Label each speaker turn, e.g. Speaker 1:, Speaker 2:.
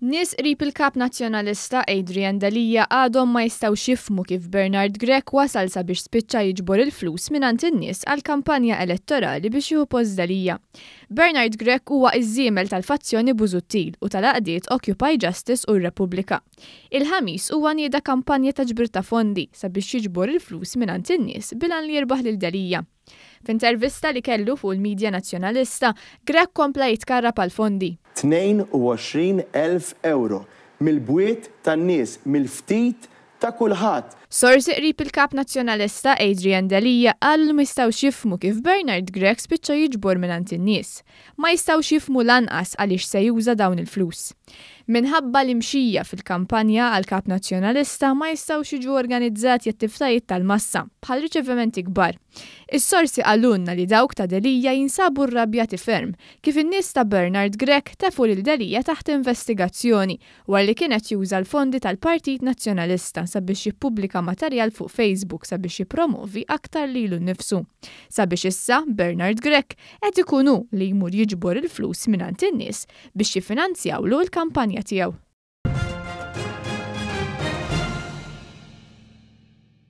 Speaker 1: Nies qrib il-Kap Nazzjonalista Adrian Delia għadhom ma jistgħux jifhmu kif Bernard Grech wasal sabiex spiċċa jiġbor il-flus mingħand in-nies għall-kampanja elettorali biex jieħu post Delia. Bernard Grech huwa ż-żiemel tal-fazzjoni Busuttil u tal-għaqdiet Occupy Justice u r-Repubblika. Il-Ħamis huwa nieda kampanja ta' ġbir ta' fondi sabiex jiġbor il-flus mingħand in-nies bil-għan li jirbaħ lil Delia. F'intervista li kellu fuq il-midja Nazzjonalista, Grech kompla jitkarrab għall-fondi.
Speaker 2: 22 elf ewro mill-bwiet tan-nies, mill-ftit ta' kulħadd.
Speaker 1: Sorsi qrib il-Kap Nazzjonalista Adrian Delia qalu li ma jistgħux jifhmu kif Bernard Grech spiċċa jiġbor mingħand in-nies. Ma jistgħux jifhmu lanqas għaliex se juża dawn il-flus. Minħabba l-imxija fil-kampanja għal Kap Nazzjonalista, ma jistgħux jiġu organizzati attivitajiet tal-massa bħal riċevimenti kbar. Is-sorsi qalulna li dawk ta' Delia jinsabu rrabjati ferm kif in-nies ta' Bernard Grech tefgħu lil Delia taħt investigazzjoni wara li kienet juża l-fondi tal-Partit Nazzjonalista sabiex jippubblika materjal fuq Facebook sabiex jippromovi aktar lilu nnifsu. Sabiex issa Bernard Grech qed ikun hu li jmur jiġbor il-flus mingħand in-nies biex jiffinanzjawlu l-kampanja tiegħu.